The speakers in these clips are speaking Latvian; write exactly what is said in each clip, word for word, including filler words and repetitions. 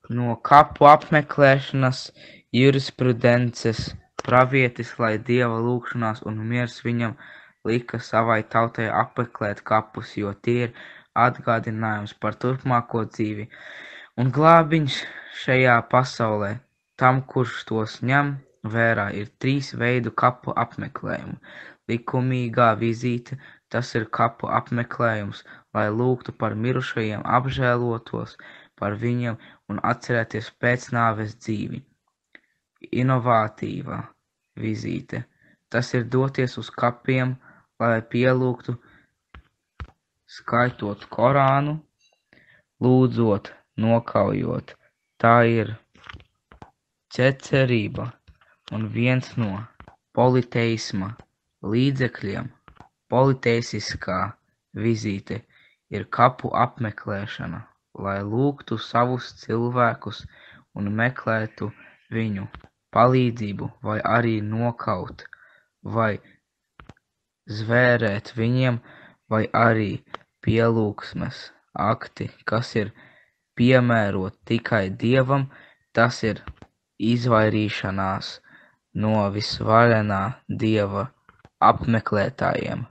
No kapu apmeklēšanas jurisprudences pravietis, lai Dieva lūgšanās un miers viņam lika savai tautai apmeklēt kapus, jo tie ir atgādinājums par turpmāko dzīvi un glābiņš šajā pasaulē. Tam, kurš tos ņem vērā, ir trīs veidu kapu apmeklējumi. Likumīgā vizīte, tas ir kapu apmeklējums, lai lūgtu par mirušajiem, apžēlotos par viņiem un atcerēties pēcnāves dzīvi. Inovatīvā vizīte, tas ir doties uz kapiem, lai pielūgtu, skaitot Korānu, lūdzot, nokaujot. Tā ir ķecerība un viens no politeisma līdzekļiem. Politeisiskā vizīte ir kapu apmeklēšana, lai lūgtu savus cilvēkus un meklētu viņu palīdzību, vai arī nokaut, vai zvērēt viņiem, vai arī pielūgsmes akti, kas ir piemēroti tikai Dievam, tas ir izvairīšanās no visvarenā Dieva apmeklētājiem.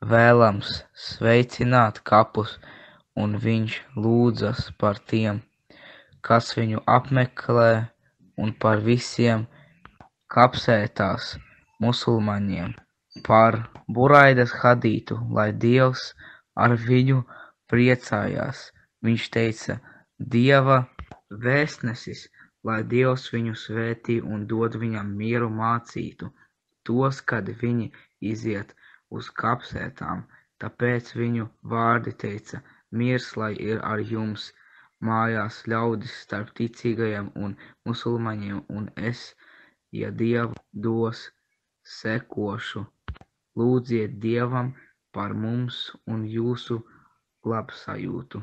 Vēlams sveicināt kapus, un viņš lūdzas par tiem, kas viņu apmeklē, un par visiem kapsētās musulmaņiem, par Buraidas hadītu, lai Dievs ar viņu priecājās. Viņš teica, Dieva vēstnesis, lai Dievs viņu svētī un dod viņam mieru mācītu tos, kad viņi iziet uz kapsētām. Tāpēc viņu vārdi teica, miers lai ir ar jums mājās ļaudis starp ticīgajiem un musulmaņiem, un es, ja Dievu dos, sekošu. Lūdziet Dievam par mums un jūsu labsajūtu.